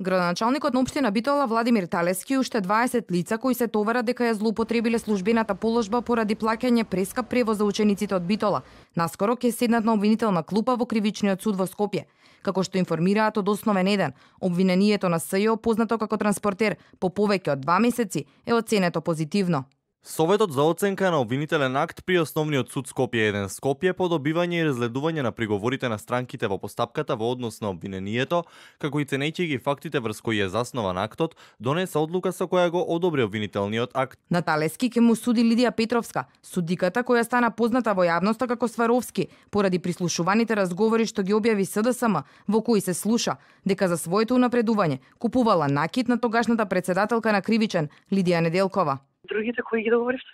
Градоначалникот на општина Битола Владимир Талески уште 20 лица кои се товарат дека ја злоупотребиле службената положба поради плаќање прескап превоз за учениците од Битола. Наскоро ќе седнат на обвинителна клупа во Кривичниот суд во Скопје. Како што информираат од Основен 1, обвинението на СЈО, познато како транспортер, по повеќе од 2 месеци е оценето позитивно. Советот за оценка на обвинителен акт при Основниот суд Скопје 1 Скопје по добивање и разгледување на приговорите на странките во постапката во однос на обвинението, како и ценејќи ги фактите врз кои е заснован актот, донесе одлука со која го одобри обвинителниот акт. На Талески ќе му суди Лидија Петровска, судиката која стана позната во јавноста како Сваровски, поради прислушуваните разговори што ги објави СДСМ, во кои се слуша дека за своето унапредување купувала накит на тогашната председателка на Кривичен Лидија Неделкова. Другите кои ги договоривте?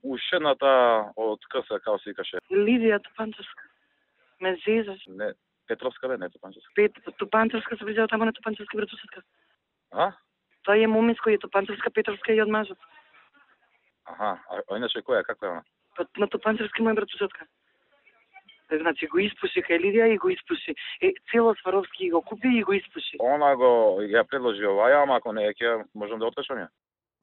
Ушената од КС, како се викаше. Лидија Топанчевска. Ме зезаш. Не, Петровска бе, не Топанчевска. Топанчевска се врзела тамо на Топанчевски братусетка. А? Тоа е момиско, е Топанчевска, Петровска и од мажот. Аха, а иначе која, каква е она? Па на Топанчевски моја братусетка. Значи го испуши кај Лидија и го испуши. Цело Сваровски го купи и го испуши. Она го ја предложи оваја, ама ако не ќе можам да откажам ја.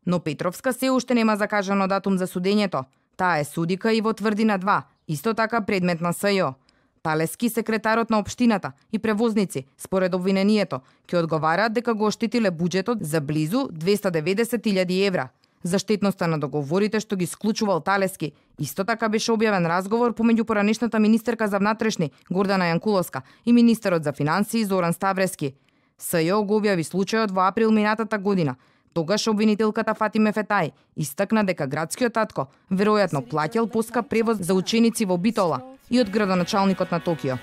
Но Петровска се уште нема закажано датум за судењето. Таа е судика и во Тврдина 2, исто така предмет на СЈО. Талески, секретарот на општината и превозници, според обвинението, ќе одговараат дека го оштетиле буџетот за близу 290.000 евра. За штетноста на договорите што ги склучувал Талески, исто така беше објавен разговор помеѓу поранешната министерка за внатрешни Гордана Јанкуловска и министерот за финансии Зоран Ставрески. СЈО го објави случајот во април минатата година. Тогаш обвинителката Фатиме Фетај истакна дека градскиот татко веројатно плаќал поскап превоз за ученици во Битола и од градоначалникот на Токио.